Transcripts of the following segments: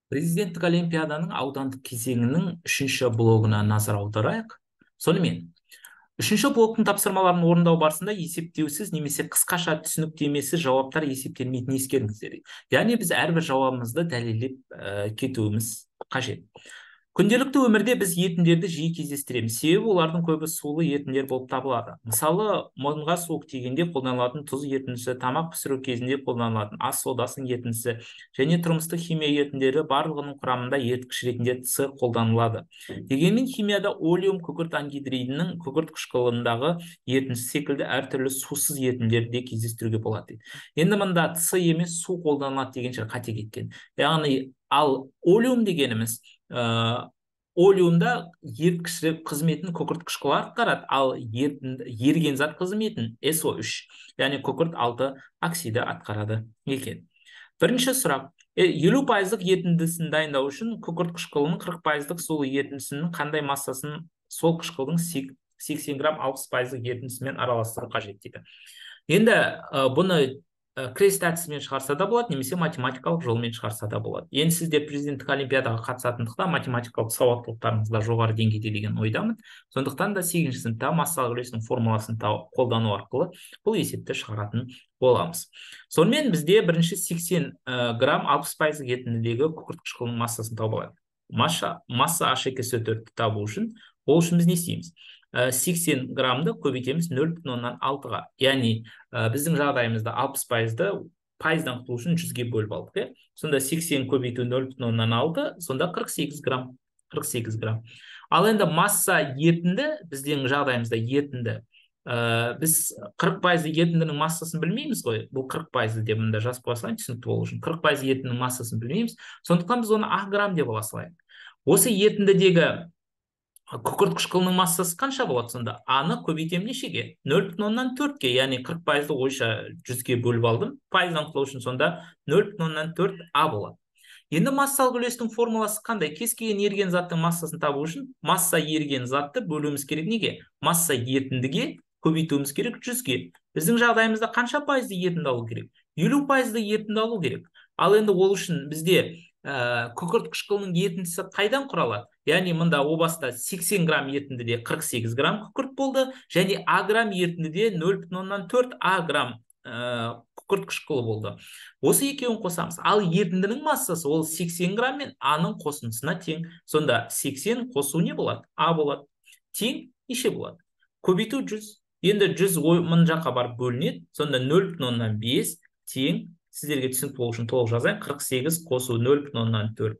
Президенттік олимпиаданың аудандық кезеңінің үшінші блогына назар аударайық. Сонымен, үшінші блоктың тапсырмаларын орындау барысында есептеусіз немесе қысқаша түсініктемесі жауаптар есептелмейтінін ескеріңіздер. Яғни біз әрбір жауабымызды дәлелдеп кетуіміз қажет. Күнделікті өмірде біз етіндерді жиі кездестіреміз, себебі олардың көбі сулы етіндер болып табылады. Мысалы, мұрынға суық тигенде қолданылатын тұз етіндісі, тамақ пісіру кезінде қолданылатын ас содасының етіндісі және тұрмыстық химия етіндері барлығының құрамында еріткіш ретінде С қолданылады. Дегенмен химияда олеум күкірт ангидридінің күкірт қышқылындағы ерітіндісі секілді әртүрлі сусыз ерітіндерді де кездестіруге болады. Енді мында С емес су қолданылады дегенше қате кеткен. Яғни ал олеум дегеніміз олеумда еріткіш қызметін күкірт қышқылы атқарады, ал еріген зат қызметін SO3, яғни күкірт 6 оксиді атқарады екен. Бірінші сұрақ. 50% ерітіндісін дайындау үшін күкірт қышқылының 40% сулы ерітіндісінің қандай массасын сол қышқылдың 80 грамм 60% ерітіндісімен араластыру қажет дейді. Енді бұны крест әдісімен шығарса да болады, немесе математикалық жолмен шығарса да болады. Енді сіздер президенттік олимпиадаға қатысатындықтан математикалық сауаттылықтарыңызда жоғары деңгейде деген ойдамын. Сондықтан да 8-ші сыныпта массалық үлестің формуласын қолдану арқылы бұл есепті шығаратын боламыз. Сонымен бізде бірінші 80 грамм 60% ерітіндідегі күкірт қышқылының массасын тауып алайық. Масса H2SO4-ті табу үшін, ол үшін біз не істейміз? 80 граммды көбейтеміз 0,6-ға. Яғни біздің жағдайымызда 60%-ды пайыздан құтылу үшін 100-ге бөліп алдық. Сонда 80 көбейту 0,6, сонда 48 грамм. 48 грамм. Ал енді масса ерітінді, біздің жағдайымызда ерітінді. Біз 40% ерітіндінің массасын білмейміз ғой. Бұл 40% деп мұнда жазып қойсаң, түсінікті болу үшін. 40% ерітіндінің массасын білмейміз. Сондықтан біз оны ақ грамм деп ала салайық. Осы ерітіндідегі күкірт қышқылының массасы қанша болады сонда? А-ны көбейтем нешеге? 0,4-ге, яғни 40%-ді ойша 100-ге бөліп алдым. Пайыздан құтылу үшін сонда 0,4 А болады. Енді массалық үлестің формуласы қандай? Кез келген еріген заттың массасын табу үшін масса еріген затты бөлуіміз керек неге? Масса ерітіндіге көбейтуіміз керек 100-ге. Біздің жағдайымызда қанша пайызды ерітінді алу керек? 50%-ды ерітінді алу керек. Ал енді ол үшін бізде күкірт қышқылының ерітіндісі қайдан құралады? Яғни мұнда о баста 80 грамм ерітіндіде 48 грамм күкірт болды, және А грамм ерітіндіде 0,4 А грамм күкірт қышқылы болды. Осы екеуін қосамыз. Ал ерітіндінің массасы ол 80 грамм мен А-ның қосындысына тең. Сонда 80 қосу не болады? А болады. Тең неше болады? Көбейту 100. Енді 100 мың жаққа барып бөлінеді. Сонда 0,5 тең, сіздерге түсінікті болу үшін толық жазайын, 48 қосу 0,4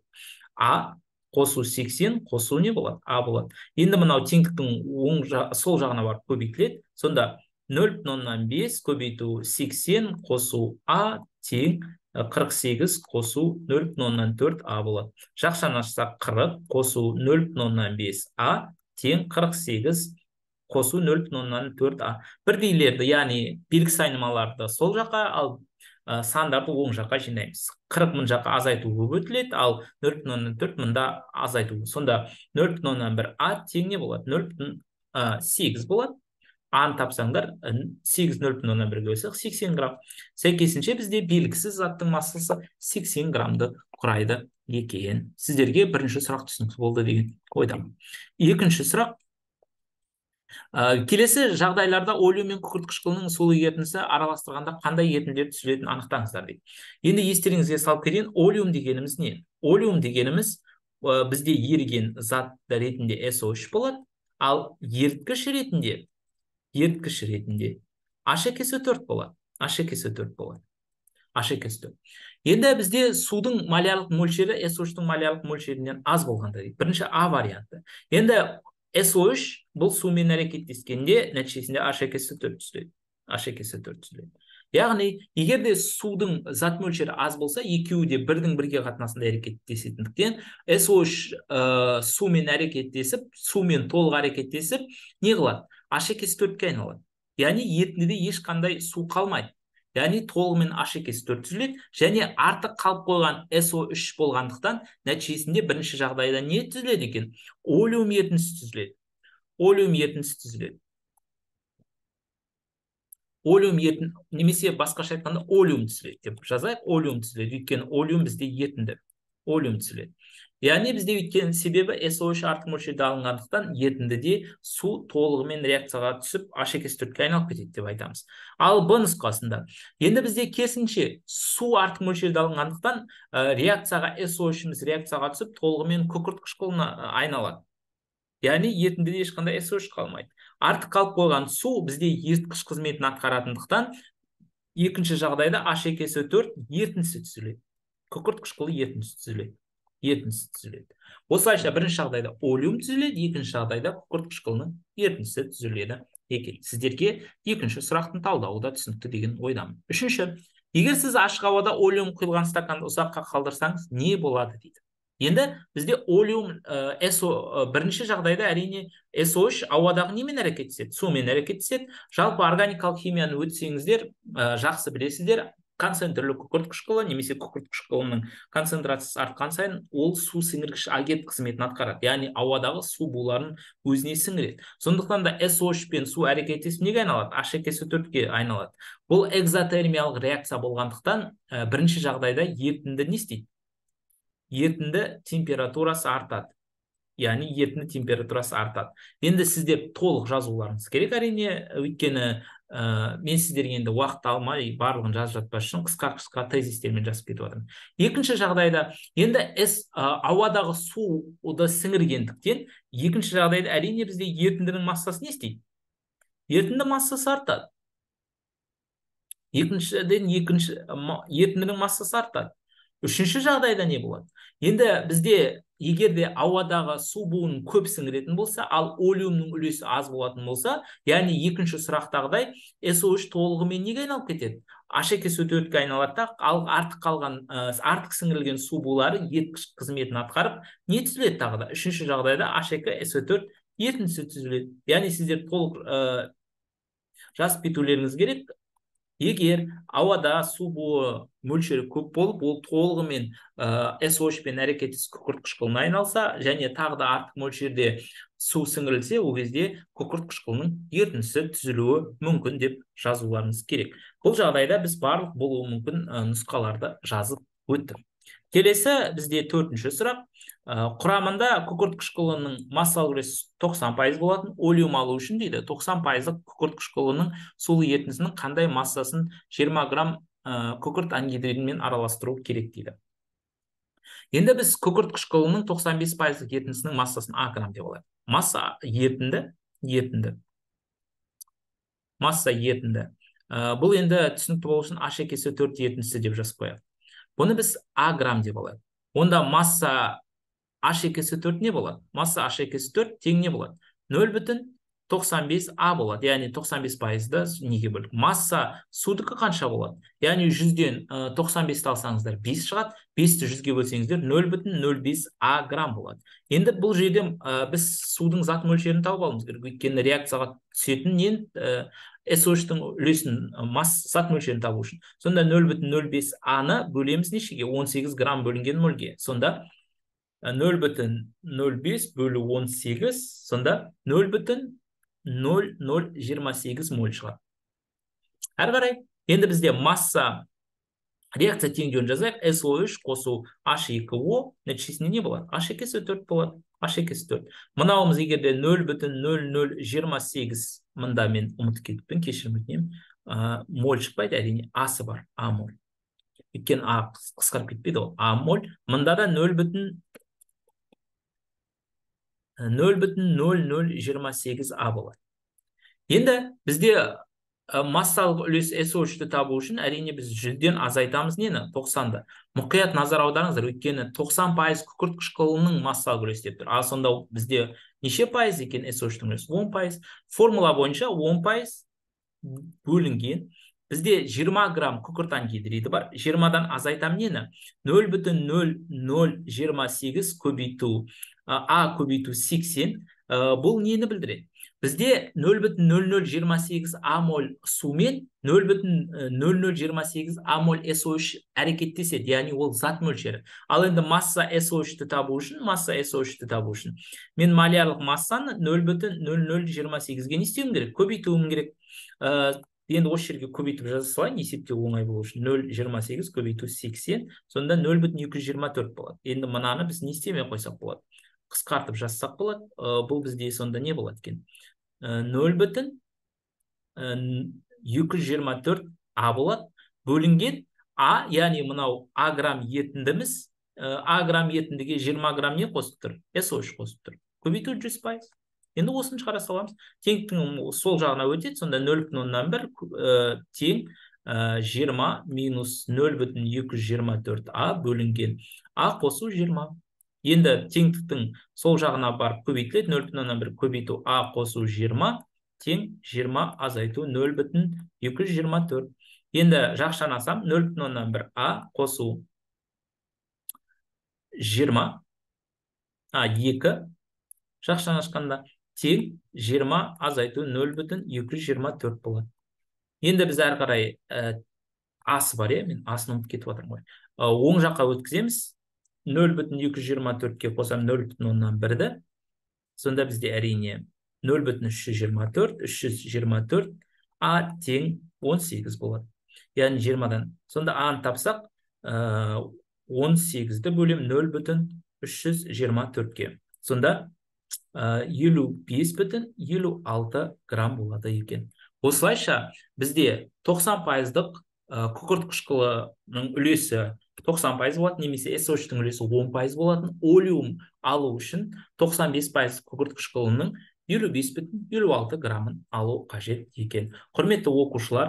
А қосу 80 қосу не болады? А болады. Енді мынау теңдіктің сол жағына барып көбейтіледі. Сонда 0,5 көбейту 80 қосу А тең 48 қосу 0,4 А болады. Жақшаны ашсақ 40 қосу 0,5 А тең 48 қосу 0,4 А. Бірдейлерді, яғни белгісіз айнымаларды сол жаққа, ал сандарды оң жаққа жинаймыз. 40 мың жаққа азайту көп өтіледі, ал 0,4 мында азайту. Сонда 0,1 А тең не болады? 0,8 болады. А-ны тапсаңдар, 8 0,1-ге бөлсек 80 грамм. Сәйкесінше бізде белгісіз заттың массасы 80 граммды құрайды екен. Сіздерге бірінші сұрақ түсінікті болды деген ойдамын. Екінші сұрақ. Келесі жағдайларда олеум мен күкірт қышқылының сулы ерітіндісі араластырғанда қандай ерітінділер түзілетінін анықтаңыздар дейді. Енді естеріңізге салып кетейін, олеум дегеніміз не? Олеум дегеніміз бізде еріген зат ретінде SO3 болады, ал еріткіш ретінде H2SO4 болады. H2SO4 болады. H2SO4. Енді бізде судың малярлық мөлшері SO3-тің малярлық мөлшерінен аз болғанда дейді. Бірінші А варианты. Енді SO3 бұл сумен әрекеттескенде нәтижесінде H2SO4 түзіледі. H2SO4 түзіледі. Яғни, егер де судың зат мөлшері аз болса, екеуі де бірдің бірге қатынасында әрекеттесетіндіктен, SO3 сумен әрекеттесіп, сумен толық әрекеттесіп, не қылады? H2SO4-ке айналады. Яғни, ерітіндіде ешқандай су қалмайды. Яғни, толығымен H2SO4 түзіледі, және артық қалып қойған SO3 болғандықтан, нәтижесінде бірінші жағдайда не түзіледі екен? Олеум ерітіндісі түзіледі. Олеум ерітіндісі түзіледі. Олеум немесе басқаша айтқанда олеум түзіледі деп жазайық. Олеум түзіледі. Өйткені олеум бізде ерітінді. олеум түзіледі. Яғни бізде өйткен себебі SO3 артық мөлшерде алынғандықтан ерітіндіде су толығымен реакцияға түсіп H2S4-ке айналып кетеді деп айтамыз. Ал Б нұсқасында енді бізде керісінше су артық мөлшерде алынғандықтан реакцияға SO3-іміз реакцияға түсіп толығымен күкірт қышқылына айналады. Яғни ерітіндіде ешқандай SO3 қалмайды. Артық қалып қойған су бізде еріткіш қызметін атқаратындықтан екінші жағдайда H2SO4 ерітіндісі түзіледі. Күкірт қышқылы ерітіндісі түзіледі. Осылайша бірінші жағдайда олеум түзіледі, екінші жағдайда күкірт қышқылының ерітіндісі түзіледі екен. Сіздерге екінші сұрақтың талдауы да түсінікті деген ойдамын. Үшінші, егер сіз ашық ауада олеум құйылған стаканды ұзаққа қалдырсаңыз, не болады дейді. Енді бізде олеум бірінші жағдайда әрине SO3 ауадағы немен әрекет етеді? Сумен әрекет етеді. Жалпы органикалық химияны өтсеңіздер, жақсы білесіздер, концентрлі күкірт қышқылы немесе күкірт қышқылының концентрациясы артқан сайын ол су сіңіргіш агент қызметін атқарады. Яғни ауадағы су буларын өзіне сіңіреді. Сондықтан да SO3 пен су әрекеттесіп неге айналады? H2SO4-ке айналады. Бұл экзотермиялық реакция болғандықтан бірінші жағдайда ерітінді не істейді? Ерітінді температурасы артады. Яғни ерітінді температурасы артады. Енді сізде толық жазуларыңыз керек әрине, өйткені мен сіздерге енді уақыт алмай барлығын жазып жатпас үшін қысқа тезистермен жазып кетіп жатырмын. Екінші жағдайда енді ауадағы суды сіңіргендіктен екінші жағдайда әрине бізде ерітіндінің массасы не істейді? Ерітінді массасы артады. Ерітіндінің массасы артады. Үшінші жағдайда не болады? Енді бізде егерде ауадағы су буын көп сіңіретін болса, ал олеумның үлесі аз болатын болса, яғни екінші сұрақтағыдай SO3 толығымен неге айналып кетеді? H2SO4-ке айналады, ал артық сіңірілген су булары еріткіш қызметін атқарып, не түзіледі тағы да? Үшінші жағдайда H2SO4 ерітіндісі түзіледі. Яғни сіздер толық жазып кетулеріңіз керек. Егер ауада су буы мөлшері көп болып, ол толығымен SO3 пен әрекеттес күкірт қышқылына айналса, және тағы да артық мөлшерде су сіңірілсе, ол кезде күкірт қышқылының ерітіндісі түзілуі мүмкін деп жазуларыңыз керек. Бұл жағдайда біз барлық болуы мүмкін нұсқаларды жазып өттік. Келесі бізде төртінші сұрақ. Құрамында күкірт қышқылының массалық үлесі 90% болатын, олеум алу үшін дейді 90%-лық күкірт қышқылының сулы ерітіндісінің қандай массасын 20 грамм күкірт ангидридімен араластыру керек дейді. Енді біз күкірт қышқылының 95%-лық ерітіндісінің массасын А грамм деп алайық. Масса ерітінді. Масса ерітінді. Бұл енді түсінікті болу үшін H2SO4 ерітіндісі деп жазып қояйық. Бұны біз А грамм деп алайық. Онда масса H2SO4 не болады? Масса H2SO4 тең не болады? 0,95 А болады. Яғни 95%-ды неге бөлдік? Масса судікі қанша болады? Яғни 100-ден 95-ті алсаңыздар 5 шығады, 5-ті 100-ге бөлсеңіздер 0,05 А грамм болады. Енді бұл жерде біз судың зат мөлшерін тауып алуымыз керек. Өйткені реакцияға түсетін SO3-тің үлесін зат мөлшерін табу үшін. Сонда 0,05 А-ны бөлеміз нешеге? 18 грамм бөлінген мөлге. Сонда 0,05 бөлі 18, сонда 0,0028 моль шығады. Әрі қарай, енді бізде масса реакция теңдеуін жазайық. SO3 қосу H2O нәтижесінде не болады? H2SO4 болады. H2SO4. Мынауымыз егерде 0,0028 мында мен ұмытып кетіппін, кешірім өтінемін. Моль шықпайды, әрине асы бар, А моль. Өйткені А қысқарып кетпейді ол. А моль. Мында да 0,0028 А болады. Енді бізде массалық үлес SO3-ті табу үшін әрине біз 100-ден азайтамыз нені? 90-ды. Мұқият назар аударыңыздар, өйткені 90% күкірт қышқылының массалық үлес деп тұр. Ал сонда бізде неше пайыз екен SO3-тің үлесі? 10%. Формула бойынша 10% бөлінген. Бізде 20 грамм күкірт ангидриді бар. 20-дан азайтам нені? 0,0028 көбейту А көбейту 80. Бұл нені білдіреді? Бізде 0,0028 А моль сумен 0,0028 А моль SO3 әрекеттеседі, яғни ол зат мөлшері. Ал енді масса SO3-ті табу үшін, мен малярлық массаны 0,0028-ге не істеуім керек? Көбейтуім керек. енді осы жерге көбейтіп жаза салайын, есептеу оңай болу үшін. 0,28 көбейту 80, сонда 0,224 болады. Енді мынаны біз не істемей қойсақ болады? Қысқартып жазсақ болады. Бұл бізде сонда не болады екен? 0,224 а болады. Бөлінген а, яғни мынау а грамм етіндіміз. А грамм етіндіге 20 грамм не қосып тұр? SO3 қосып тұр. Көбейту 100%. Енді осыны шығара саламыз. Теңдіктің сол жағына өтеді, сонда 0,1 тең 20 минус 0,224 а бөлінген а қосу 20. Енді теңдіктің сол жағына барып көбейтіледі, 0,1 көбейту а қосу 20 тең 20 азайту 0,224. Енді жақшанасам 0,1 а қосу 20 2 жақшан ашқанда тең 20 азайту 0,224 болады. Енді біз әрі қарай асы бар, мен асын ұмытып кетіп жатырмын ғой. Оң жаққа өткіземіз. 0,224-ке қосам 0,1-ді. Сонда бізде әрине 0,324, 324 а тең 18 болады. Яғни 20-дан. Сонда аны тапсақ, 18-ді бөлем 0,324-ке. Сонда 55,56 грамм болады екен. Осылайша бізде 90%-дық күкірт қышқылының үлесі 90% болады, немесе SO3-тің үлесі 10% болатын. Олеум алу үшін 95% күкірт қышқылының 55,56 граммын алу қажет екен. Құрметті оқушылар,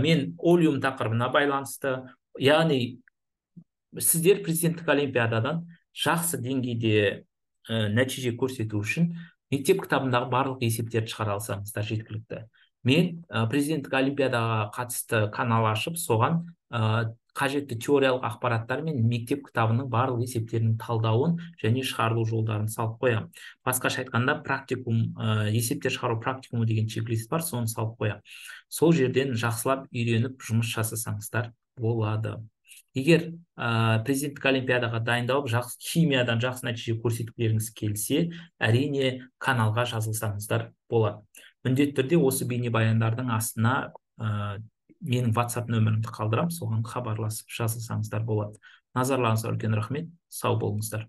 мен олеум тақырыбына байланысты, яғни сіздер президенттік олимпиададан жақсы деңгейде нәтиже көрсету үшін мектеп кітабындағы барлық есептерді шығара алсаңыздар жеткілікті. Мен президенттік олимпиадаға қатысты канал ашып, соған қажетті теориялық ақпараттар мен мектеп кітабының барлық есептерінің талдауын және шығарылу жолдарын салып қоямын. Басқаша айтқанда, практикум, есептер шығару практикумы деген чек-лист бар, соны салып қоямын. Сол жерден жақсылап үйреніп жұмыс жасасаңыздар болады. Егер президенттік олимпиадаға дайындалып, химиядан жақсы нәтиже көрсеткілеріңіз келсе, әрине каналға жазылсаңыздар болады. Міндетті түрде осы бейнебаяндардың астына менің WhatsApp нөмірімді қалдырам, соған хабарласып жазылсаңыздар болады. Назарларыңызға үлкен рахмет, сау болыңыздар.